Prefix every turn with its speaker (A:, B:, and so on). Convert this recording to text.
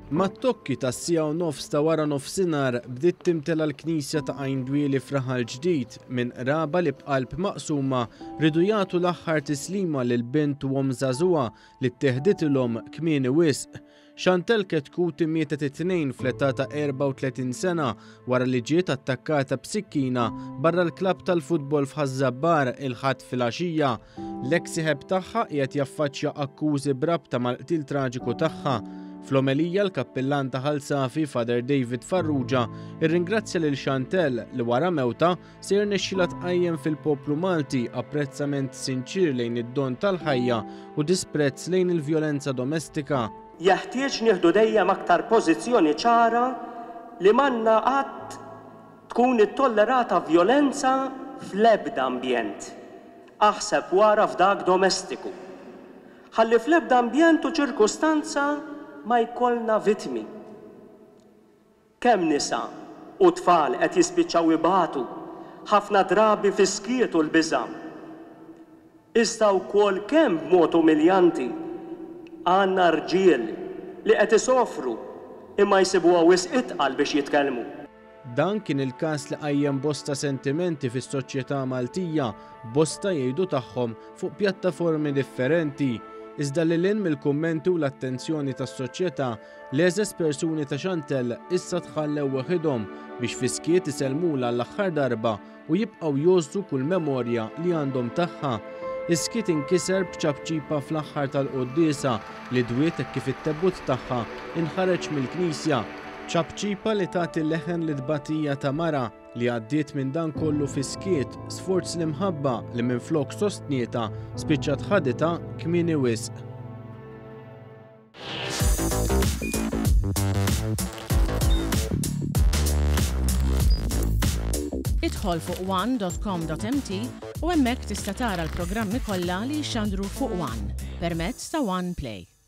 A: Mat-tokki tas-siegħa u nofs ta' wara nofsinhar bdiet timtela l-knisja ta' Għajn Dwieli f'Raħal Ġdid minn qraba li b'qalb maqsuma riedu jagħtu l-aħħar tislima lil bint u omm żagħżugħa li ttieħditilhom kmieni wisq. Chantelle Chetcuti mietet it-Tnejn fl-età ta' 34 sena wara li ġiet attakkata b'sikkina barra l-klabb tal-futbol f'Ħaż-Żabbar il-Ħadd filgħaxija. L-eks sieħeb tagħha qiegħed jaffaċċja akkużi b'rabta mal-qtil traġiku tagħha. Fl-omelija l-kappillan ta' Ħal Safi, Father David Farrugia, irringrazzja lil Chantelle li wara mewtha se jirnexxilha tqajjem fil-poplu Malti apprezzament sinċier lejn id-don tal-ħajja u disprezz lejn il-vjolenza domestika.
B: Jeħtieġ nieħdu dejjem aktar pożizzjoni ċara li m'għandna qatt tkun ittollerata vjolenza fl-ebda ambjent, aħseb wara f'dak domestiku. Ħalli fl-ebda ambjent u ċirkustanza ma jkollna vittmi. Kemm nisa u tfal qed jispiċċaw ibatu, ħafna drabi fis-skiet u l-biża'. Iżda wkoll kemm b'mod umiljanti għandna rġiel li qed isofru imma jsibuha wisq itqal biex jitkellmu.
A: Dan kien il-każ li qajjem bosta sentimenti fis-soċjetà Maltija, bosta jgħidu tagħhom fuq pjattaformi differenti. Iżda lil hinn mill-kummenti u l-attenzjoni tas-soċjetà, L-għeżeż persuni ta' Chantelle issa tħallew weħidhom biex fis-skiet isellmulha għall-aħħar darba u jibqgħu jgħożżu kull memorja li għandhom tagħha. Is-skiet inkiser b'ċapċipa fl-aħħar tal-quddiesa li dwiet hekk kif it-tebut tagħha inħareġ mill-knisja. Ċapċipa li tagħti leħen lit-tbatija ta' mara li għaddiet minn dan kollu fis-skiet sforz l-imħabba li minflok sostnietha spiċċat ħaditha kmieni wisq.
C: Idħol fuq one.com.mt u hemmhekk tista' tara l-programmi kollha li jixxandru fuq One permezz ta' One Play.